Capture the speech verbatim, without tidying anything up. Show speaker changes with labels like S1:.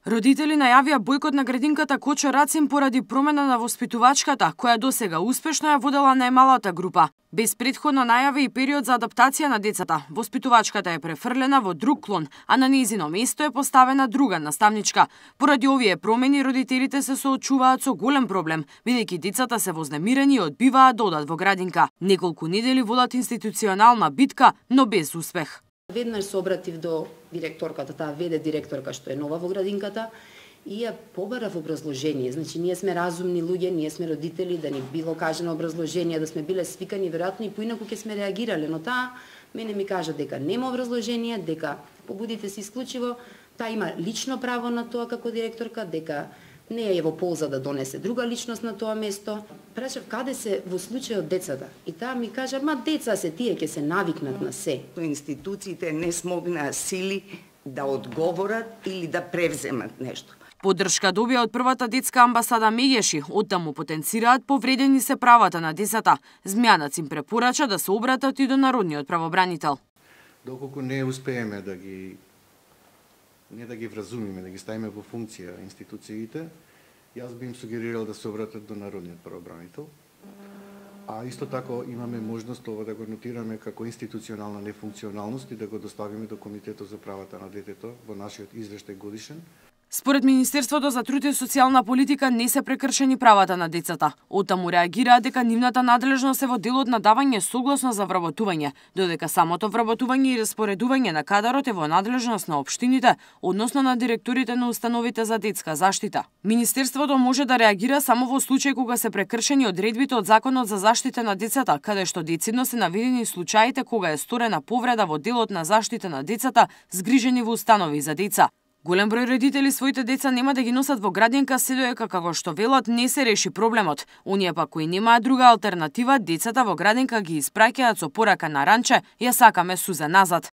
S1: Родители најавија бојкот на градинката Кочо Рацин поради промена на воспитувачката, која досега успешно ја водела најмалата група. Без претходно најави и период за адаптација на децата, воспитувачката е префрлена во друг клон, а на нејзино место е поставена друга наставничка. Поради овие промени родителите се соочуваат со голем проблем, бидејќи децата се вознемирени и одбиваат да одат во градинка. Неколку недели водат институционална битка, но без успех.
S2: Веднаш се обратив до директорката, таа веде директорка што е нова во градинката, и ја побарав образложение. Значи, ние сме разумни луѓе, ние сме родители, да ни било кажено образложение, да сме биле свикани, веројатно и поинаку ќе сме реагирале, но таа мене ми кажа дека нема образложение, дека побудите се исклучиво, таа има лично право на тоа како директорка, дека не е во полза да донесе друга личност на тоа место. Прашав каде се во случајот децата и таа ми кажа, ма деца се, тие ќе се навикнат на се.
S3: Институциите не смогнаа сили да одговорат или да превземат нешто.
S1: Поддршка добија од првата детска амбасада Мегеши, оттаму потенцираат повредени се правата на децата. Змјанац им препорача да се обратат и до народниот правобранител.
S4: Доколку не успееме да ги не да ги вразумиме, да ги ставиме во функција институциите, јас би им сугерирал да се обратат до народниот правобранител. А исто тако имаме можност ова да го нотираме како институционална нефункционалност и да го доставиме до Комитетот за правата на детето во нашиот извештај годишен.
S1: Според Министерството за труд и социјална политика не се прекршени правата на децата. Оттаму реагираа дека нивната надлежност е во делот на давање согласно за вработување, додека самото вработување и распоредување на кадарот е во надлежност на општините, односно на директорите на установите за детска заштита. Министерството може да реагира само во случај кога се прекршени одредбите од Законот за заштита на децата, каде што децидно се наведени случаите кога е сторена повреда во делот на заштита на децата згрижени во установи за деца. Голем број родители своите деца нема да ги носат во градинка се додека како што велат не се реши проблемот. Оние пак кои немаат друга алтернатива, децата во градинка ги испраќаат со порака на ранче, ја сакаме суза назад.